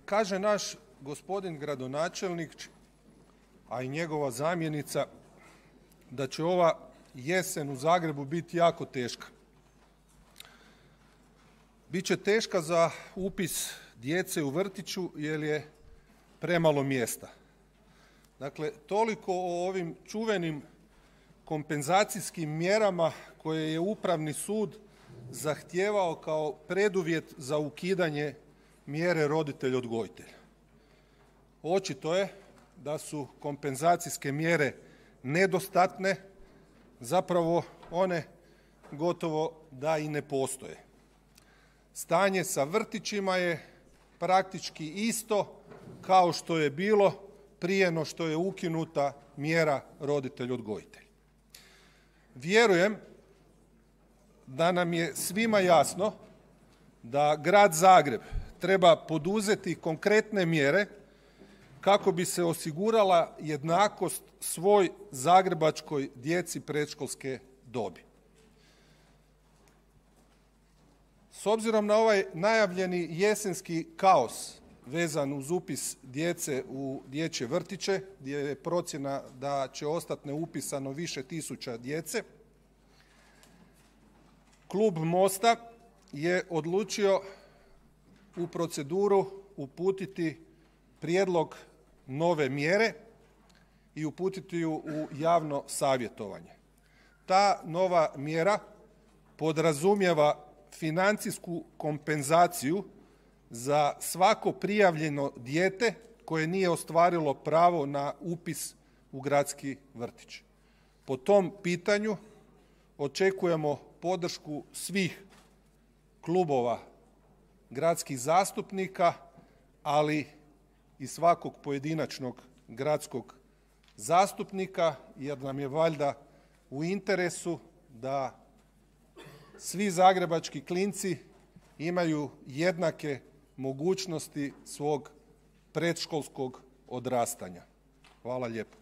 Kaže naš gospodin gradonačelnik, a i njegova zamjenica, da će ova jesen u Zagrebu biti jako teška. Biće teška za upis djece u vrtiću jer je premalo mjesta. Dakle, toliko o ovim čuvenim kompenzacijskim mjerama koje je Upravni sud zahtijevao kao preduvjet za ukidanje mjere roditelj odgojitelj. Očito je da su kompenzacijske mjere nedostatne, zapravo one gotovo da i ne postoje. Stanje sa vrtićima je praktički isto kao što je bilo prije no što je ukinuta mjera roditelj odgojitelj. Vjerujem da nam je svima jasno da Grad Zagreb treba poduzeti konkretne mjere kako bi se osigurala jednakost svoj zagrebačkoj djeci predškolske dobi. S obzirom na ovaj najavljeni jesenski kaos vezan uz upis djece u dječje vrtiće, gdje je procjena da će ostati neupisano više tisuća djece, Klub Mosta je odlučio u proceduru uputiti prijedlog nove mjere i uputiti ju u javno savjetovanje. Ta nova mjera podrazumijeva financijsku kompenzaciju za svako prijavljeno dijete koje nije ostvarilo pravo na upis u gradski vrtić. Po tom pitanju očekujemo podršku svih klubova gradskih zastupnika, ali i svakog pojedinačnog gradskog zastupnika, jer nam je valjda u interesu da svi zagrebački klinci imaju jednake mogućnosti svog predškolskog odrastanja. Hvala lijepo.